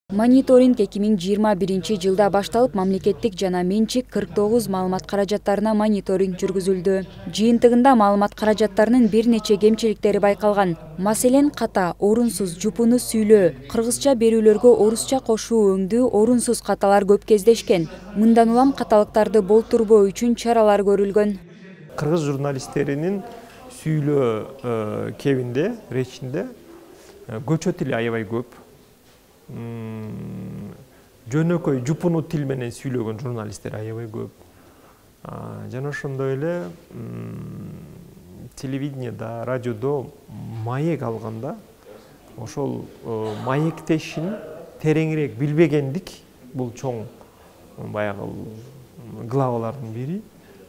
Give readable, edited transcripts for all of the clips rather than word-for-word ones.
Мониторинг 2021-жылда башталып, мамлекеттик жана менчик 49 маалымат каражаттарына мониторинг жүргүзүлдү. Жыйынтыгында маалымат каражаттарынын бир нече кемчиликтери байкалган. Маселен, ката, орунсуз, жупуну сүйлөө, кыргызча берүүлөргө орусча кошуу өңдүү, орунсуз каталар көп кездешкен. Мындан улам каталыктарды болтурбоо үчүн чаралар көрүлгөн. Кыргыз журналисттеринин сүйлөө кебинде, речинде көчө тили аябай көп. Жөнөкөй жупуну тил менен сүйлөгөн журналисттер аябай көп. Жана ошондой эле телевидениеда, радиодо маек алганда ошол маектешин тереңирээк билбегендик бул чоң баягы главалардын бири.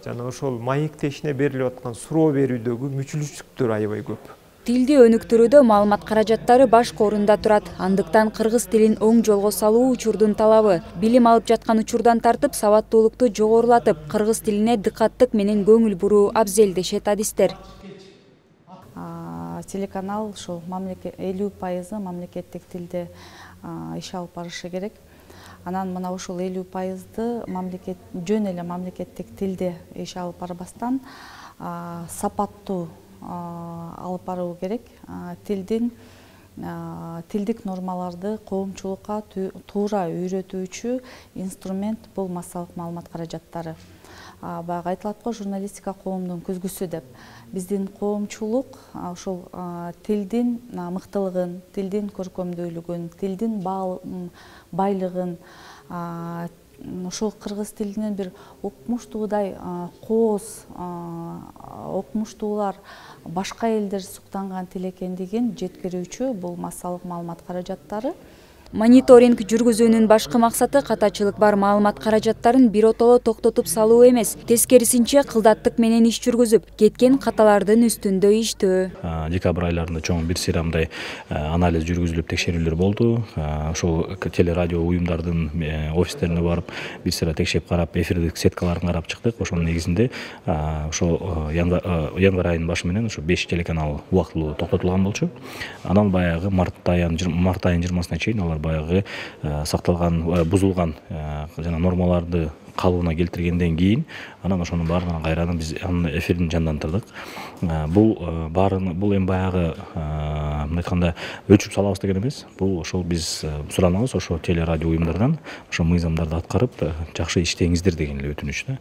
Жана ошол маектешине берилип аткан суроо берүүдөгү мүчүлүштүктөр аябай көп. Тилди өнүктүрүүдө маалымат каражаттары башкы орунда турат. Андыктан кыргыз тилин оң жолго салуу учурдун талабы. Билим алып жаткан учурдан тартып, сабаттуулукту жогорулатып, кыргыз тилине дыкаттык менен көңүл буруу абзел дешет адистер. Телеканал ушул 50% мамлекеттик тилде иш алып барышы керек. Анан мына ушул 50%ды жөн эле мамлекеттик тилде иш алып барбастан сапаттуу алып баруу керек. Тилдик нормаларды коомчулукка туура үйрөтүүчү инструмент бул массалык маалымат каражаттары. Баягы айтылат го, журналистика коомдун күзгүсү деп. Биздин коомчулук ушул тилдин мыктылыгын, тилдин көркөмдүүлүгүн, тилдин байлыгын, ошол кыргыз тилинен бир укмуштуудай кооз окумуштуулар башка элдер суктанган тил экендигин жеткирүүчү бул массалык маалымат каражаттары. Мониторинг жүргүзүүнүн башкы максаты катачылык бар маалымат каражаттарын биротоло токтотуп салуу эмес, тескерисинче кылдаттык менен иш жүргүзүп, кеткен каталардын үстүндө иштөө. Декабрь айларында чоң бир сыйра мындай анализ жүргүзүлүп, текшерүүлөр болду. Ошол телерадио уюмдардын офистерине барып, бир сыйра текшеп карап, эфирдик сеткаларын карап чыктык. Ошонун негизинде ошол январь айынын башы менен ошо 5 телеканал убактылуу токтотулган болчу. Анан баягы март айынын 20-сына чейин алар баягы сакталган, бузулган жана нормаларды калыбына келтиргенден кийин анан ошонун баарынан кайрадан биз анын эфирин жандандырдык. Бул эми баягы мындай айтканда өлчүп салабыз деген эмес. Бул ошол биз суранабыз ошо телерадио уюмдардан ошо мыйзамдарды аткарып жакшы иштеңиздер деген эле өтүнүч да.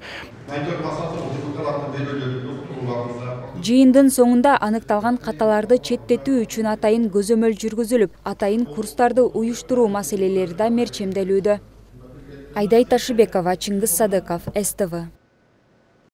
Жыйындын соңунда аныкталган каталарды четтетүү үчүн атайын көзөмөл жүргүзүлүп, атайын курстарды уюштуруу маселелери да мерчемделүүдө. Айдай Ташыбекова, Чыңгыз Садыков, СТВ.